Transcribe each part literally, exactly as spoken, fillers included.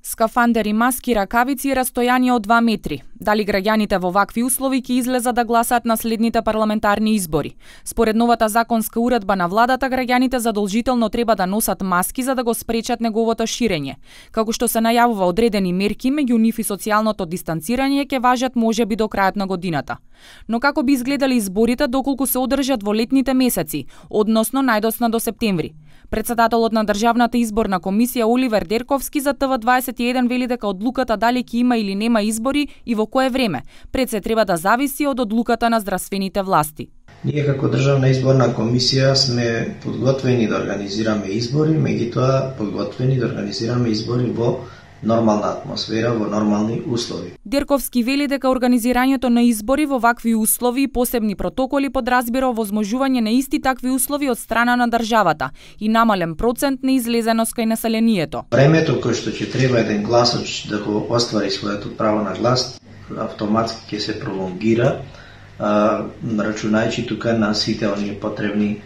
Скафандери, маски, ракавици и растојание од два метри. Дали граѓаните во вакви услови ќе излезат да гласаат на следните парламентарни избори? Според новата законска уредба на владата, граѓаните задолжително треба да носат маски за да го спречат неговото ширење. Како што се најавува, одредени мерки, меѓу нив и социјалното дистанцирање, ќе важат можеби до крајот на годината. Но како би изгледали изборите доколку се одржат во летните месеци, односно најдоцна до септември? Председателот на Државната изборна комисија Оливер Дерковски за Т В дваесет и еден вели дека одлуката дали ќе има или нема избори и во кое време пред се треба да зависи од одлуката на здравствените власти. Ние како Државна изборна комисија сме подготвени да организираме избори, меѓутоа подготвени да организираме избори во нормална атмосфера, во нормални услови. Дерковски вели дека организирањето на избори во вакви услови и посебни протоколи подразбира овозможување на исти такви услови од страна на државата и намален процент на излезеност кај населението. Времето кој што ќе треба еден гласач да го оствари своето право на глас, автоматски ќе се пролонгира, рачунајќи тука на сите оние потребни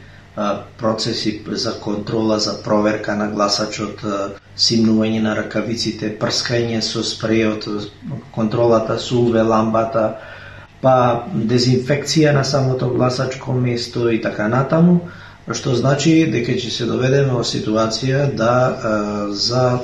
процеси за контрола, за проверка на гласачот, симнување на ракавиците, прскање со спрејот, контролата со У В ламбата, па дезинфекција на самото гласачко место и така натаму, што значи дека ќе се доведеме во ситуација да за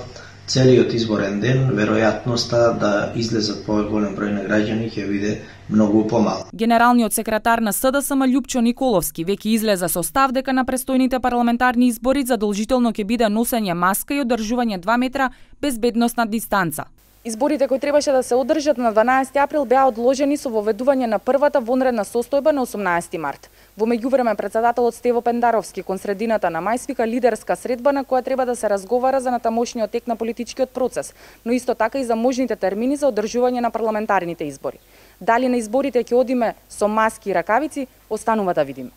целиот изборен ден веројатноста да излезат поголем број на граѓани ќе биде многу помала. Генералниот секретар на С Д С М Љупчо Николовски веќе излезе со став дека на престојните парламентарни избори задолжително ќе биде носење маска и одржување два метра безбедносна дистанца. Изборите кои требаше да се одржат на дванаесети април беа одложени со воведување на првата вонредна состојба на осумнаесети март. Во меѓувреме председателот Стево Пендаровски кон средината на мај свика лидерска средба на која треба да се разговара за натамошниот тек на политичкиот процес, но исто така и за можните термини за одржување на парламентарните избори. Дали на изборите ќе одиме со маски и ракавици, останува да видиме.